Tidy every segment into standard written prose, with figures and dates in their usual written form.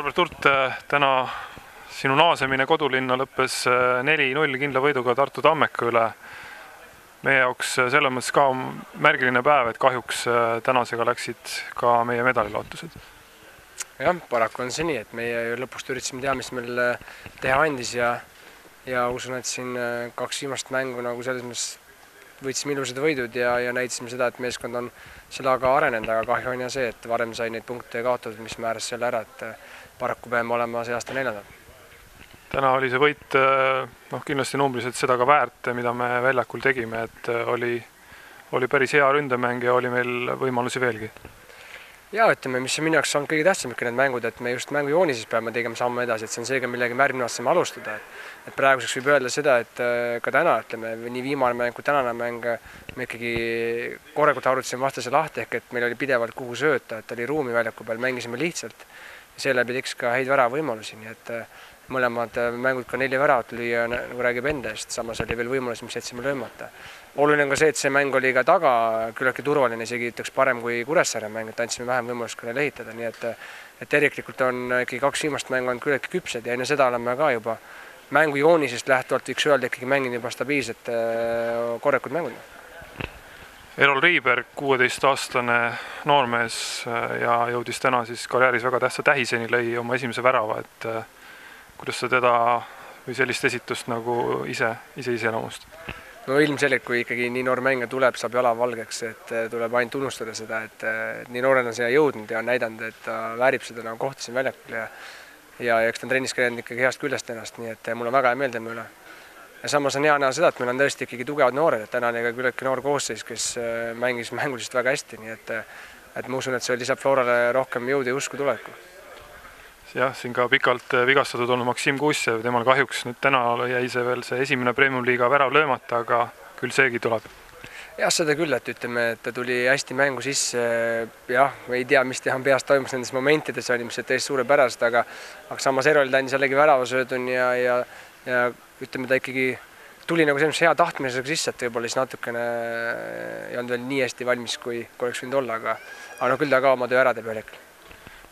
Albert Hurt, täna sinu naasemine kodulinna lõppes 4-0 kindla võiduga Tartu Tammeka üle. Meie jaoks selles mõttes ka märgiline päev, et kahjuks tänasega läksid ka meie medalilootused. Jah, paraku on see nii, et meie lõpust üritasime teha, mis meil teha andis ja usun, et siin kaks viimast mängu nagu selles mõttes võitsime ilusad võidud ja näitasime seda, et meeskond on selle aga arenenud, aga kahju on ja see, et varem sai neid punkte kaotatud, mis määras selle ära, et paraku peame olema see aasta 4. Täna oli see võit kindlasti numbriliselt seda ka väärt, mida me väljakul tegime, et oli päris hea ründemäng ja oli meil võimalusi veelgi. Ja ütleme, mis minu jaoks on kõige tähtsam ikka need mängud, et me just mängujoonises peame tegema samme edasi, et see on seega millegi märgmine saame alustada. Et praeguseks võib öelda seda, et ka täna, ütleme, nii viimane mäng kui tänane mäng, me ikkagi korrekult arutasime vastase lahti, ehk et meil oli pidevalt kuhu sööta, et oli ruumi väljaku peal, mängisime lihtsalt ja seeläbi teeks ka häid väravõimalusi, nii et mõlemad mängud ka 4 väravat lüüa, nagu räägib enda eest, samas oli veel võimalus, mis jätsime löömata. Oluline on ka see, et see mäng oli ka taga küllaltki turvaline, isegi ütleks parem kui Kuressaare mäng, et andsime vähem võimalust ka neile ehitada, nii et terviklikult on ikkagi 2 viimast mängu on küllaltki küpsed ja enne seda oleme ka juba mängujoonisest lähtuvalt võiks öelda ikkagi mängin juba stabiilset korrekud mängud. Erol Riiberg, 16-aastane noormees ja jõudis täna siis karjääris väga tähtsa tähiseni, lõi oma esimese värava, et kuidas sa teda või sellist esitust nagu ise iseloomustad? No ilmselgelt, kui ikkagi nii noor mängija tuleb, saab jala valgeks, et tuleb ainult tunnustada seda, et nii noorena on siia jõudnud ja on näidanud, et ta väärib seda nagu kohtasin väljakul ja eks ta on trennis käinud ikkagi heast küljest ennast, nii et mul on väga hea meel tema üle. Ja samas on hea näha seda, et meil on tõesti ikkagi tugevad noored, et täna oli ka küllaltki noor koosseis, kes mängis mänguliselt väga hästi, nii et ma usun, et see lisab Florale rohkem jõudu ja usku tulevikku. Jah, siin ka pikalt vigastatud olnud Maksim Kussev, temal kahjuks nüüd täna jäi see veel see esimene Premium-liiga värav löömata, aga küll seegi tuleb. Jah, seda küll, et ütleme, et ta tuli hästi mängu sisse, jah, ei tea, mis teha peast toimus nendes momentides, oli mis täiesti suurepärast, aga samas Erol ta andis jällegi väravasöödun ja ütleme, ta ikkagi tuli nagu sellise hea tahtmisega sisse, et võib-olla siis natukene ei olnud veel nii hästi valmis, kui oleks võinud olla, aga küll ta ka oma töö ära teeb ühel.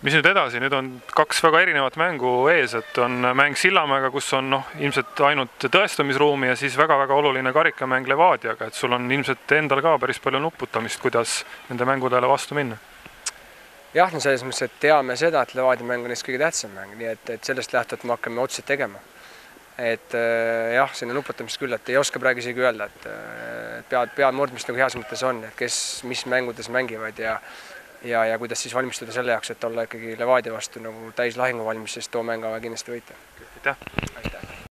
Mis nüüd edasi? Nüüd on 2 väga erinevat mängu ees, et on mäng Sillamäega, kus on ilmselt ainult tõestamisruumi ja siis väga-väga oluline karikamäng Levadiaga, et sul on ilmselt endal ka päris palju nuputamist, kuidas nende mängudele vastu minna. Jah, no selles mõttes, et teame seda, et Levadia mäng on neist kõige tähtsam mäng, nii et sellest lähtuvalt me hakkame otsused tegema. Et jah, sinna nuputamist küll, et ei oska praegu isegi öelda, et pead murdmist nagu heas mõttes on, et kes mis mängudes mängivad ja kuidas siis valmistuda selle jaoks, et olla ikkagi Levadia vastu nagu täis lahingu valmis, sest too mäng kindlasti võita. Aitäh!